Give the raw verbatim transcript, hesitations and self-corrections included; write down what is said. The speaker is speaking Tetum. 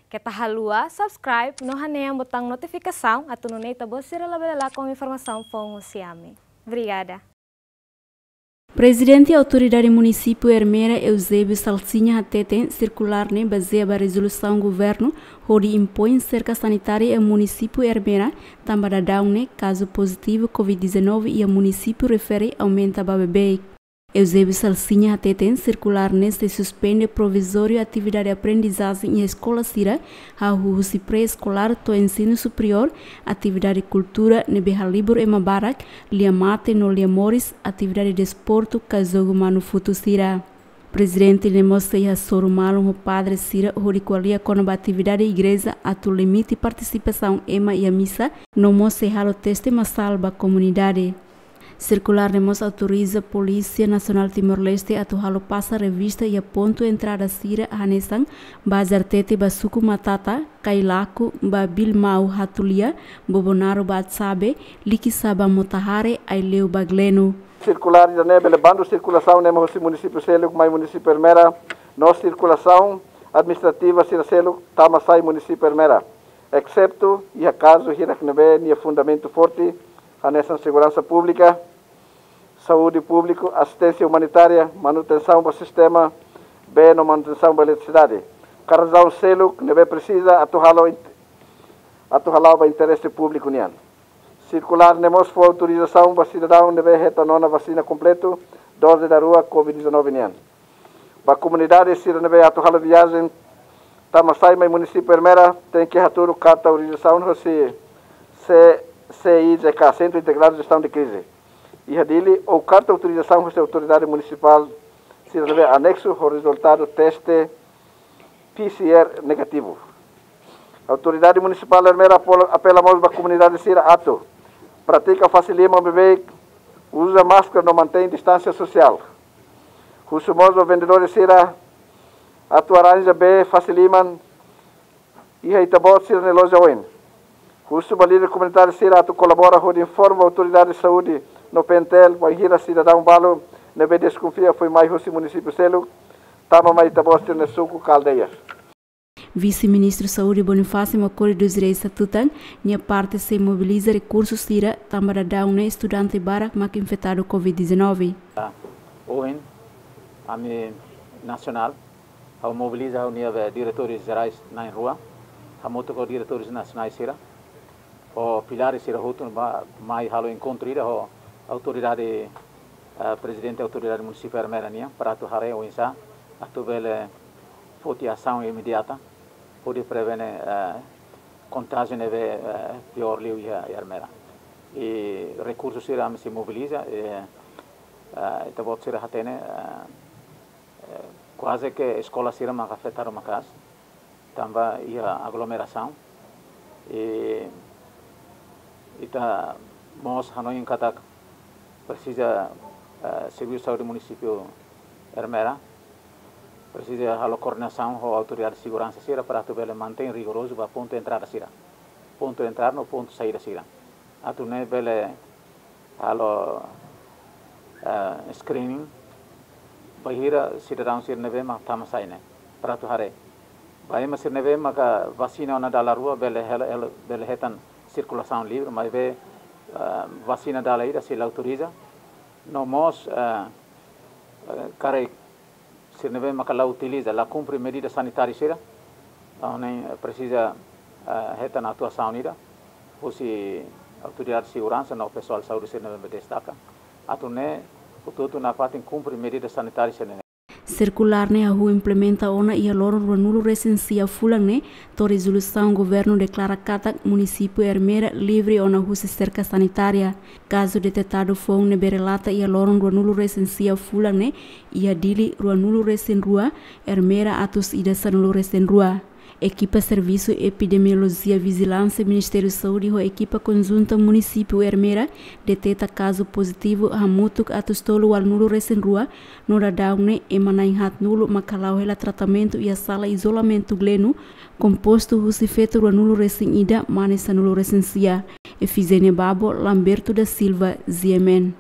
Keta haluha subscribe no hanehan botaun notifikasaun atu nune'e ita-boot sira labele lakon informasaun foun husi ami. Obrigada. Prezidente Autoridade Munisípiu Ermera, Eusébio Salsinha, hateten sirkulár ne'e bazeia ba rezolusaun governu hodi impoin serka sanitária iha munisípiu Ermera, tanba daudaun ne'e kazu pozitivu covid dezanove iha munisípiu refere aumenta ba beibeik. Eusébio Salsinha hateten sirkulár ne'e sei suspende provizóriu atividade aprendizajen iha eskola sira, hahú husi pré-eskolár to'o ensinu superiór, atividade kultura ne'ebé halibur ema barak, lia mate no lia moris, atividade desportu ka jogu manu-futu sira. Prezidente ne'e mós sei hasoru malu ho padre sira hodi ko'alia kona-ba atividade igreja atu limite partisipasaun ema iha misa, no mós sei halo teste masál ba komunidade. Sirkulár ne'e mós autoriza Polísia Nasionál Timor-Leste atu halo pasa revista iha pontu entrada sira hanesan Bazar Tete ba Suku Matata, Kailaku ba Bilmau Hatulia, Bobonaro ba Atsabe, Likisá ba Motahare, Aileu ba Gleno. Sirkulár ida-ne'e bele bandu sirkulasaun ne'e mai husi munisípiu seluk mai munisípiu Ermera, no sirkulasaun administrativa sira seluk tama sai munisípiu Ermera, exetu iha kazu hirak ne'ebé nia fundamentu forte, hanesan seguransa públika, saúde públiku, asisténsia umanitária, manutensaun ba sistema bee no manutensaun ba eletrisidade, ka razaun seluk ne'ebé presiza atu halo int-, atu hala'o ba interese públiku nian. Sirkulár ne'e mós fó autorizasaun ba sidadaun ne'ebé hetan ona vasina kompletu doze da rua covid dezanove nian. Ba komunidade sira ne'ebé atu halo viajen tama sai mai munisípiu Ermera, tenke hatudu karta autorizasaun hosi C-, C I J K, Centro Integrado de Gestão de Crise, iha Dili, ou karta autorizasaun hosi autoridade munisipál sira ne'ebé aneksu ho rezultadu teste P C R negativu. Autoridade Munisipál Ermera apela, apela mós ba komunidade sira atu pratika fase liman beibeik, uza máskara no mantein distánsia sosiál. Husu mós ba vendedór sira atu arranja bee fase liman iha ita-boot sira-nia loja oin. Husu ba líder komunitáriu sira atu kolabora hodi informa autoridade saúde no P N T L bainhira sidadaun balu ne'ebé deskonfia foin mai husi munisípiu seluk tama mai ita-boot sira-nia suku ka aldeia. Vise-Ministru Saúde Bonifácio Macori dos Reis hatutan, nia parte sei mobiliza rekursu sira, tanba daudaun ne'e estudante barak mak infetadu covid dezanove. Ohin, ami nasionál, ha'u mobiliza ha'u-nia be diretores jerais na'in-rua, hamutuk ho diretores nasionais sira, ho pilares sira hotu ba mai halo enkontru ida ho autoridade, eh, prezidente autoridade munisípiu Ermera nian, para atu haree oinsá atu bele foti asaun imediata hodi prevene, eh, kontájiu ne'ebé, eh, piór liu iha Ermera. I rekursu sira ami sei mobiliza, eh, eh, ita-boot sira hatene, eh, eh, kuaze ke eskola sira mak afetadu maka'as, tanba iha aglomerasaun. I ita mós hanoin katak presiza, eh, Servisu Saúde Munisípiu Ermera presiza halo koordenasaun ho autoridade seguransa sira para atu bele mantein rigorozu ba pontu entrada sira, pontu entrada no pontu saída sira. Atu nune'e bele halo, eh, screening bainhira sidadaun sira ne'ebé mak tama sai ne'e, para atu haree. Ba ema sira ne'ebé maka vasina ona dala rua bele hela, hela, bele hetan sirkulasaun livre, maibé, eh, vasina dala ida sei la autoriza. No mós, eh, eh, karik sira ne'ebé maka la utiliza, la kumpre medida sanitária sira, entaun ne'e presiza, eh, hetan atuasaun ida husi autoridade seguransa no pesoál saúde sira ne'ebé destaka. Atu nune'e hotu-hotu nafatin kumpre medida sanitária sira ne'e. Sirkulár ne'e hahú implementa ona iha loron ruanulu-resin-sia fulan ne'e, to'o rezolusaun governu deklara katak munisípiu Ermera livre ona husi serka sanitária. Kazu detetadu foun ne'ebé relata iha loron ruanulu-resin-sia fulan ne'e, iha Dili ruanulu-resin-rua, Ermera atus ida sanulu-resin-rua. Ekipa Servisu Epidemiolojia Vijilánsia Ministériu Saúde ho ekipa konjunta munisípiu Ermera deteta kazu pozitivu hamutuk atus tolu ualunulu-resin-rua, no daudaun ne'e ema na'in-haatnulu mak hala'o hela tratamentu iha sala izolamentu Gleno, kompostu husi feto ruanulu-resin-ida, mane sanulu-resin-sia. Efizénia Babo, Lamberto da Silva, G M N.